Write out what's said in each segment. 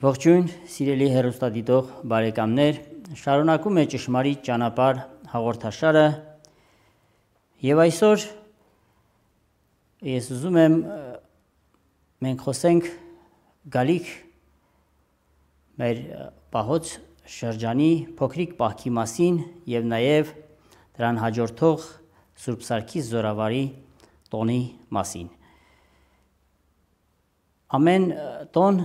Ողջույն, սիրելի հեռուստադիտող բարեկամներ, շարունակում է ճշմարիտ ճանապարհ հաղորդաշարը եւ այսօր ես ուզում եմ մենք խոսենք գալիք մեր պահոց շրջանի փոքրիկ պահքի մասին եւ նաեւ դրան հաջորդող Սուրբ Սարգիս Զորավարի տոնի մասին։ Ամեն տոն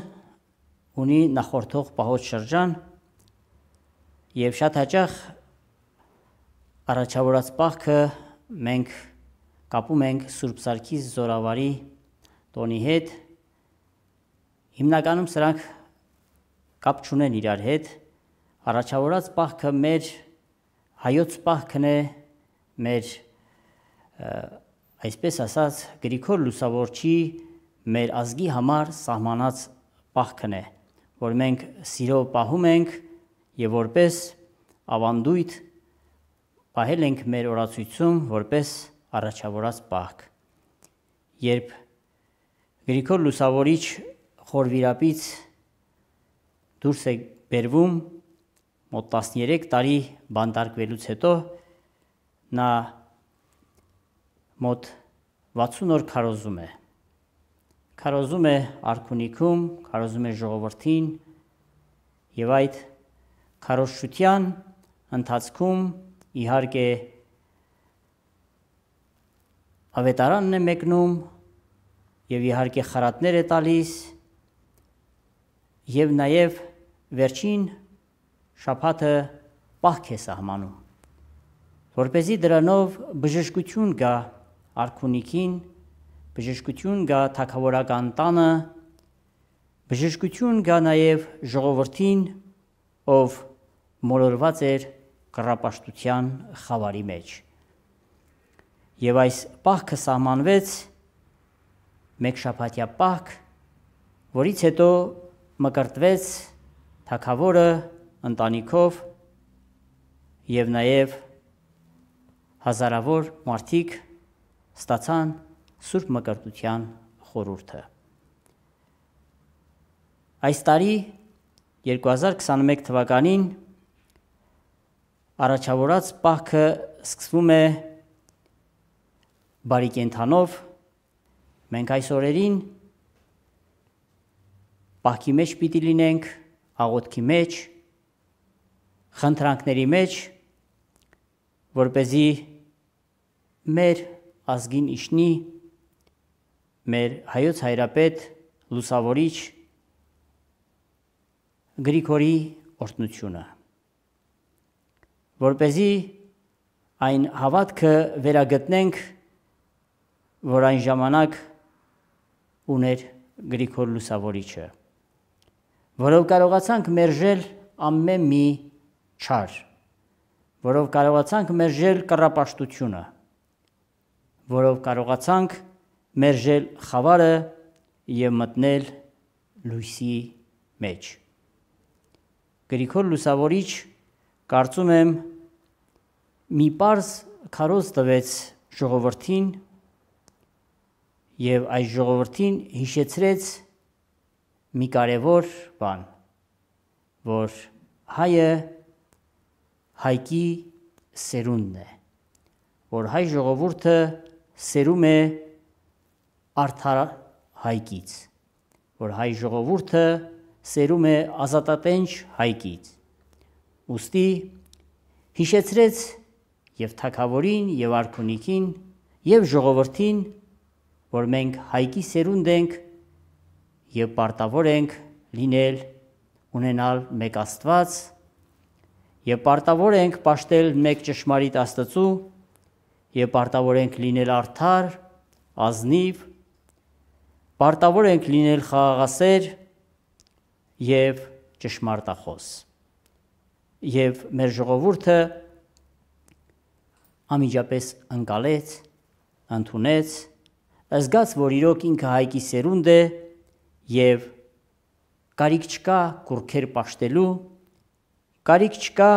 ունի նախորդող պահոց շրջան եւ շատ հաճախ առաջավորած պահքը մենք կապում ենք Սուրբ Սարգիս Զորավարի տոնի հետ։ Հիմնականում սրանք կապ չունեն իրար հետ։ Առաջավորած պահքը մեր հայոց պահքն է, մեր այսպես ասած Գրիգոր Լուսավորչի մեր ազգի համար սահմանած պահքն է, որ մենք սիրով պահում ենք եւ որպես ավանդույթ պահել ենք մեր օրացույցում որպես առաջավորած պահք։ Երբ Գրիգոր Լուսավորիչ խորվիրապից դուրս է բերվում մոտ 13 տարի բանտարկվելուց հետո նա մոտ 60 օր քարոզում է արքունիքում, քարոզում է ժողովրդին եւ այդ քարոզչության ընթացքում իհարկե ավետարանն է մեկնում եւ իհարկե խրատներ է տալիս եւ նաեւ վերջին շաբաթը պահք է սահմանում, որպեսզի դրանով բժշկություն գա արքունիքին, բժշկություն գա թագավորական տանը, բժշկություն գա նաև ժողովրդին, ով մոլորված էր կռապաշտության խավարի մեջ։ Եվ այս պահքը սահմանվեց մեկ շաբաթյա պահք, որից հետո մկրտվեց թագավորը ընտանիքով եւ նաև հազարավոր մարդիկ ստացան Սուրբ Մկրտության խորհուրդը։ Այս տարի 2021 թվականին առաջավորած պահքը սկսվում է բարի կենդանով։ Մենք այս օրերին պահքի մեջ պիտի լինենք, աղոթքի մեջ, խնդրանքների մեջ, որպեսզի մեր ազգին իշխնի մեր հայոց հայրապետ Լուսավորիչ Գրիգորի օրհնությունը, որպեսզի այն հավատքը վերագտնենք, որ այն ժամանակ ուներ Գրիգոր Լուսավորիչը, որով կարողացանք մերժել ամեն մի չար, որով կարողացանք մերժել կռապաշտությունը, որով կարողացանք մերժել խավարը եւ մտնել լույսի մեջ։ Գրիգոր Լուսավորիչ, կարծում եմ, մի պարզ քարոզ տվեց ժողովրդին եւ այս ժողովրդին հիշեցրեց մի կարևոր բան, որ հայը հայկի սերունդն է, որ հայ ժողովուրդը սերում է արդար հայկից, որ հայ ժողովուրդը սերում է ազատատենչ հայկից։ Ուստի հիշեցրեց եւ թագավորին եւ արքունիքին եւ ժողովրդին, որ մենք հայկի սերունդ ենք եւ պարտավոր ենք լինել ունենալ մեկ Աստված եւ պարտավոր ենք պաշտել մեկ ճշմարիտ Աստծու եւ պարտավոր ենք լինել արդար, ազնիվ, պարտավոր ենք լինել խաղաղասեր եւ ճշմարտախոս։ Եվ մեր ժողովուրդը անմիջապես ընկալեց, ընդունեց, զգաց, որ իրոք ինքը հայկի սերունդ է եւ կարիք չկա կուրքեր պաշտելու, կարիք չկա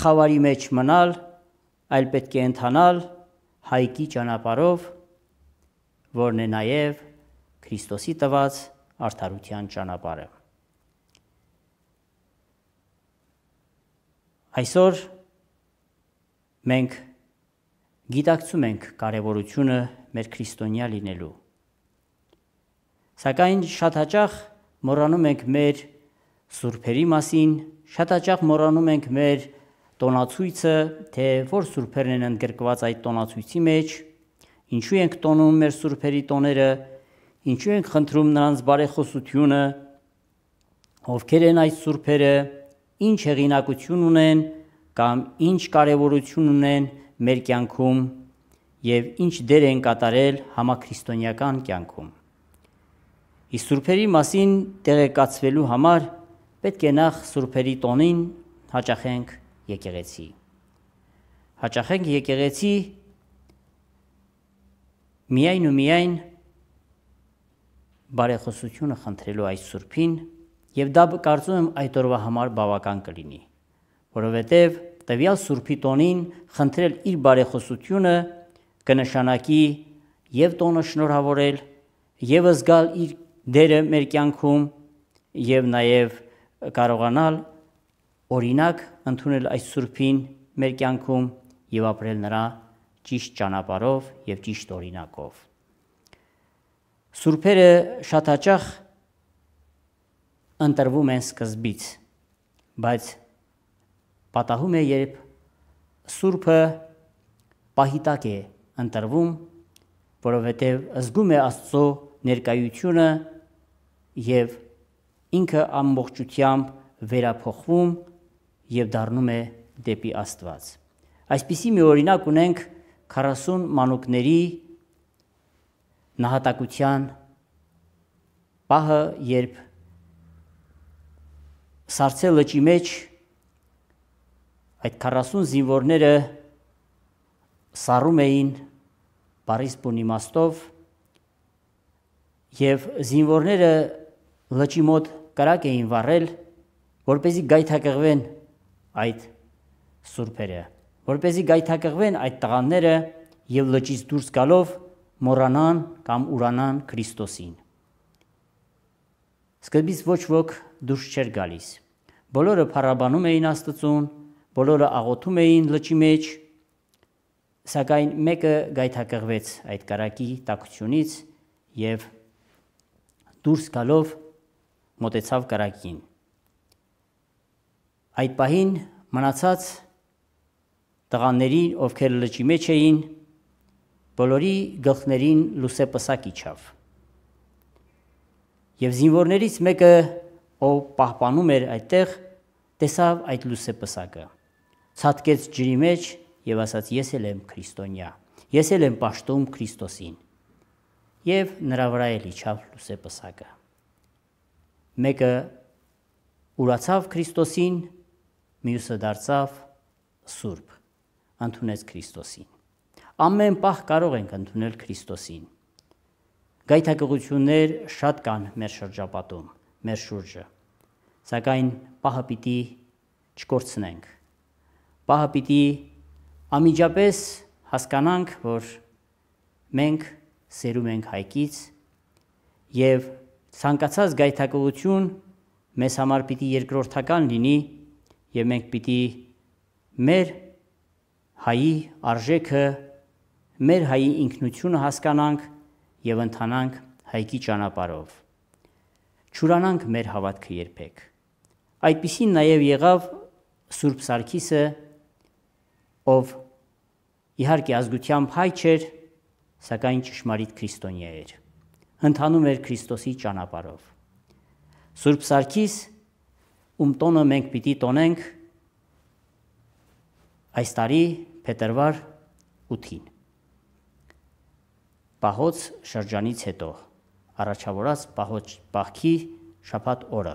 խավարի մեջ մնալ, այլ պետք է ընթանալ հայքի ճանապարհով, որն է նաև Քրիստոսի տված արդարության ճանապարհը։ Այսօր մենք գիտակցում ենք կարևորությունը մեր քրիստոնյա լինելու։ Սակայն շատ հաճախ մոռանում ենք մեր սուրբերի մասին, շատ հաճախ մոռանում ենք մեր տոնացույցը, թե որ սուրբերն են ընդգրկված այդ տոնացույցի մեջ, ինչու ենք տոնում մեր սուրբերի տոները, ինչու ենք խնդրում նրանց բարեխոսությունը, ովքեր են այդ սուրբերը, ինչ հեղինակություն ունեն կամ ինչ կարևորություն ունեն մեր կյանքում և ինչ դեր են կատարել համաքրիստոնեական կյանքում։ Իսկ սուրբերի մասին տեղեկացվելու համար պետք է նախ սուրբերի տոնին հաճախենք եկեղեցի։ Հաճախենք եկեղեցի միայն ու միայն բարեխոսությունը խնդրելու այս սուրբին, և դա կարծում եմ այդ օրվա համար բավական կլինի, որովհետև տվյալ սուրբի տոնին խնդրել իր բարեխոսությունը կնշանակի և տոնը շնորհավորել, և զգալ իր դերը մեր կյանքում, և նաև կարողանալ օրինակ ընդունել այս սուրբին մեր կյանքում և ապրել նրա ճիշտ ճանապարհով և ճիշտ օրինակով։ Սուրբերը շատ հաճախ ընտրվում են սկզբից, բայց պատահում է, երբ սուրբը պահիտակ է ընտրվում, որովհետև զգում է Աստծո ներկայությունը և ինքը ամբողջությամբ վերափոխվում և դառնում է դեպի Աստված։ Այսպիսի մի օրինակ ունենք 40 մանուկների նահատակության պահը, երբ Սառցե լճի մեջ այդ 40 զինվորները սառում էին բառիս բուն իմաստով, և զինվորները լճի մոտ կրակ էին վառել, որպեսզի գայթակղվեն այդ սուրբերը, որպեսզի գայթակղվեն այդ տղաները և լճից դուրս գալով մոռանան կամ ուրանան Քրիստոսին։ Սկզբից ոչ ոք դուրս չէր գալիս, բոլորը փառաբանում էին Աստծուն, բոլորը աղոթում էին լճի մեջ, սակայն մեկը գայթակղվեց այդ կրակի տաքությունից և դուրս գալով մոտեցավ կրակին։ Այդ պահին մնացած տղաներին, ովքեր լճի մեջ էին, բոլորի գլխներին լուսեպսակ իջավ։ Եվ զինվորներից մեկը, ով պահպանում էր այդտեղ, տեսավ այդ լուսեպսակը, ցատկեց ջրի մեջ և ասաց. «Ես էլ եմ քրիստոնյա, ես էլ եմ պաշտում Քրիստոսին»։ Եվ նրա վրա էլ իջավ լուսեպսակը։ Մեկը ուրացավ Քրիստոսին, մյուսը դարձավ սուրբ, ընդունեց Քրիստոսին։ Ամեն պահ կարող ենք ընդունել Քրիստոսին։ Գայթակղություններ շատ կան մեր շրջապատում, մեր շուրջը, սակայն պահը պիտի չկորցնենք։ Պահը պիտի անմիջապես հասկանանք, որ մենք սերում ենք հայքից և ցանկացած գայթակղություն մեզ համար պիտի երկրորդական լինի և մենք պիտի մեր հայի արժեքը, մեր հայի ինքնությունը հասկանանք և ընթանանք հայքի ճանապարհով։ Չուրանանք մեր հավատքը երբեք։ Այդպիսին նաև եղավ Սուրբ Սարգիսը, ով իհարկե ազգությամբ հայ չէր, սակայն ճշմարիտ քրիստոնյա էր, ընթանում էր Քրիստոսի ճանապարհով։ Սուրբ Սարգիս, ում տոնը մենք պիտի տոնենք այս տարի փետրվար 8-ին, Պահոց շրջանից հետո, առաջավորած Պահքի շաբաթ օրը։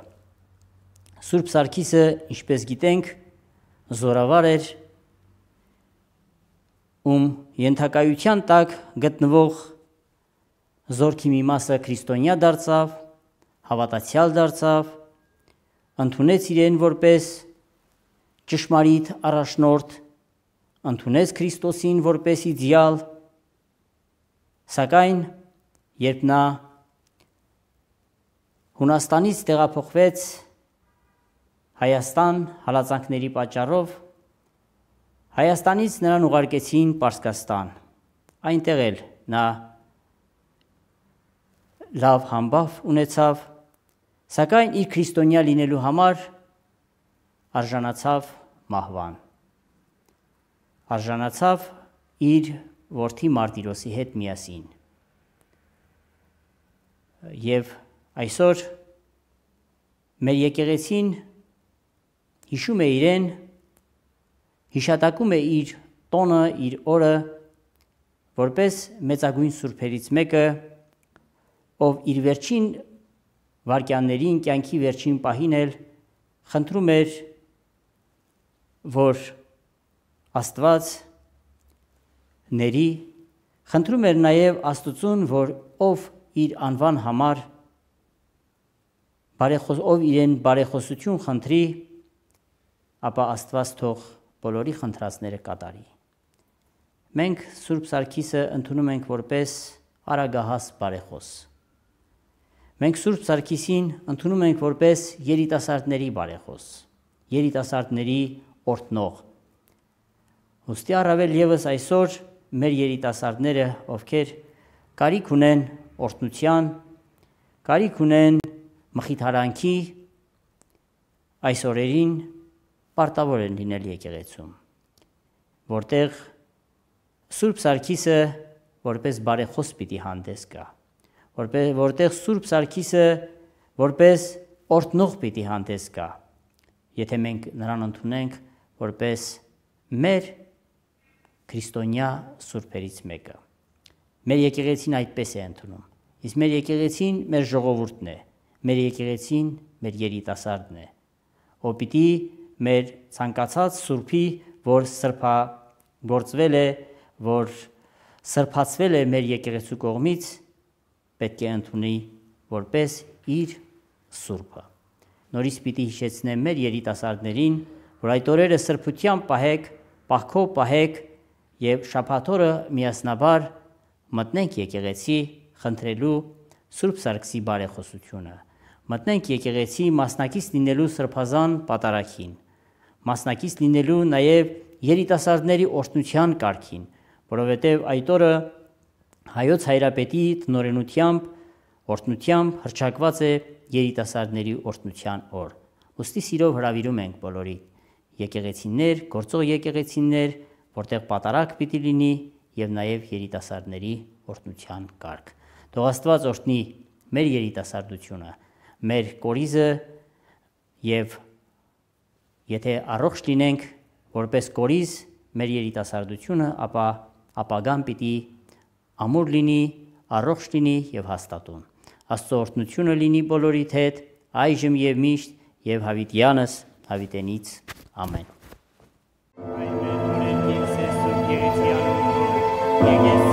Սուրբ Սարգիսը, ինչպես գիտենք, զորավար էր, ում ենթակայության տակ գտնվող զորքի մի մասը քրիստոնյա դարձավ, հավատացյալ դարձավ ընդունեց իրեն որպես ճշմարիտ առաջնորդ, ընդունեց Քրիստոսին որպես իդեալ, սակայն երբ նա Հունաստանից տեղափոխվեց Հայաստան հալածանքների պատճառով, Հայաստանից նրան ուղարկեցին Պարսկաստան, այնտեղ էլ նա լավ համբավ ունեցավ, սակայն իր քրիստոնյա լինելու համար արժանացավ մահվան, արժանացավ իր որդի Մարտիրոսի հետ միասին։ Եվ այսօր մեր եկեղեցին հիշում է իրեն, հիշատակում է իր տոնը, իր օրը, որպես մեծագույն սուրբերից մեկը, ով իր վերջին վայրկյաններին, կյանքի վերջին պահին էլ խնդրում էր, որ Աստված ների, խնդրում էր նաև Աստծուն, որ ով իր անվան համար ով իրեն բարեխոսություն խնդրի, ապա Աստված թող բոլորի խնդրածները կատարի։ Մենք Սուրբ Սարգիսը ընդունում ենք որպես արագահաս բարեխոս։ Մենք Սուրբ Սարգիսին ընդունում ենք որպես երիտասարդների բարեխոս, երիտասարդների օրհնող։ Ուստի առավել ևս այսօր մեր երիտասարդները, ովքեր կարիք ունեն օրհնության, կարիք ունեն մխիթարանքի, այս օրերին պարտավոր են լինել եկեղեցում, որտեղ Սուրբ Սարգիսը որպես բարեխոս պիտի հանդես գա, որտեղ Սուրբ Սարգիսը որպես օրհնող պիտի հանդես գա, եթե մենք նրան ընդունենք որպես մեր քրիստոնյա սուրբերից մեկը։ Մեր եկեղեցին այդպես է ընդունում, իսկ մեր եկեղեցին մեր ժողովուրդն է, մեր եկեղեցին մեր երիտասարդն է, ով պիտի մեր ցանկացած սուրբի, որ սրբագործվել է, որ սրբացվել է մեր եկեղեցու կողմից, պետք է ընդունի որպես իր սուրբը։ Նորից պիտի հիշեցնեմ մեր երիտասարդներին, որ այդ օրերը սրբությամբ պահեք, պահքով պահեք եւ շաբաթ օրը միասնաբար մտնենք եկեղեցի խնդրելու Սուրբ Սարգսի բարեխոսությունը, մտնենք եկեղեցի մասնակից լինելու սրբազան պատարագին, մասնակից լինելու նաև երիտասարդների օրհնության կարգին, որովհետև այդ օրը հայոց հայրապետի տնօրենությամբ, օրհնությամբ հռչակված է երիտասարդների օրհնության օր։ Ուստի սիրով հրավիրում ենք բոլորի եկեղեցիներ, գործող եկեղեցիներ, որտեղ պատարագ պիտի լինի եւ նաև երիտասարդների օրհնության կարգ։ Թող Աստված օրհնի մեր երիտասարդությունը, մեր կորիզը եւ եթե առողջ լինենք որպես կորիզ մեր երիտասարդությունը, ապա ապագան պիտի ամուր լինի, առողջ լինի եւ հաստատուն։ Աստծո օրհնությունը լինի բոլորիդ հետ, այժմ եւ միշտ եւ հավիտյանս հավիտենից ամեն։ Այմեն օրենքից է Սուրբ Եկեղեցի